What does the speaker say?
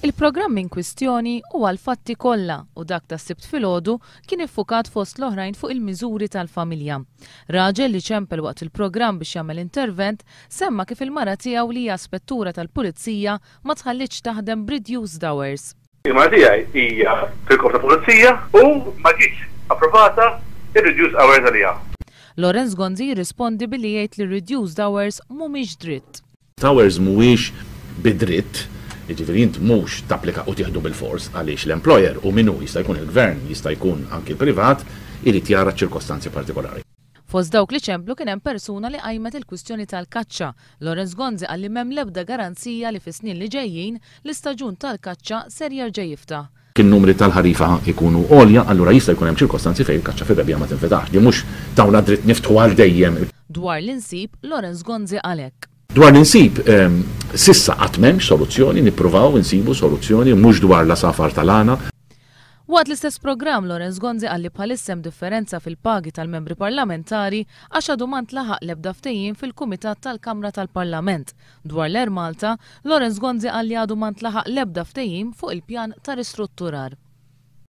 Il-programm in kwistjoni huwa l-Fatti Kollha u dak tas-Sibt filgħodu kien iffukat fost l-oħrajn fuq il-miżuri tal-familja. Raġel li ċempel waqt il-programm biex jagħmel intervent semma kif il-mara tiegħu li hija spettura tal-pulizija ma tħallietx taħdem b'reduced hours. Il-mara tiegħi hija fil-Korp ta' Pulizija u ma ġietx approvata r-reduced hours għaliha. Lawrence Gonzi jirrispondi billi jgħid li r-reduced hours mhumiex dritt. Hours mhuwiex bi dritt, jiġifieri int mhux tapplika u tieħdu bilfors għaliex l-employer u min hu, jista' jkun il-gvern, jista' jkun anki l-privat, irid jara ċ-ċirkostanzi partikolari. Fost dawk li ċemplu kien hemm persuna li qajmet il-kwistjoni tal-kaċċa. Lawrence Gonzi qal li m'hemm l-ebda garanzija li fis-snin li ġejjin l-istaġun tal-kaċċa ser jerġa' jiftaħ. Jekk in-numri tal-ħarifa jkunu għolja, allura jista' jkun hemm ċirkostanzi fejn il-kaċċa fir-rebbiegħa ma tinfetaħx. Din mhux tawna dritt niftħu għal dejjem. Dwar l-insib, Lawrence Gonzi qal hekk. Dwar l-insib, s'issa qatt m'hemmx soluzzjoni, nippruvaw insibu soluzzjoni, mhux dwar l-għasafar tal-għana. Waqt l-istess programm, Lawrence Gonzi qal li bħalissa hemm differenza fil-pagi tal-membri parlamentari għax għadu ma ntlaħaq l-ebda ftehim fil-Kumitat tal-Kamra tal-Parlament. Dwar l-Air Malta, Lawrence Gonzi qal li għadu ma ntlaħaq l-ebda ftehim fuq il-pjan ta' ristrutturar.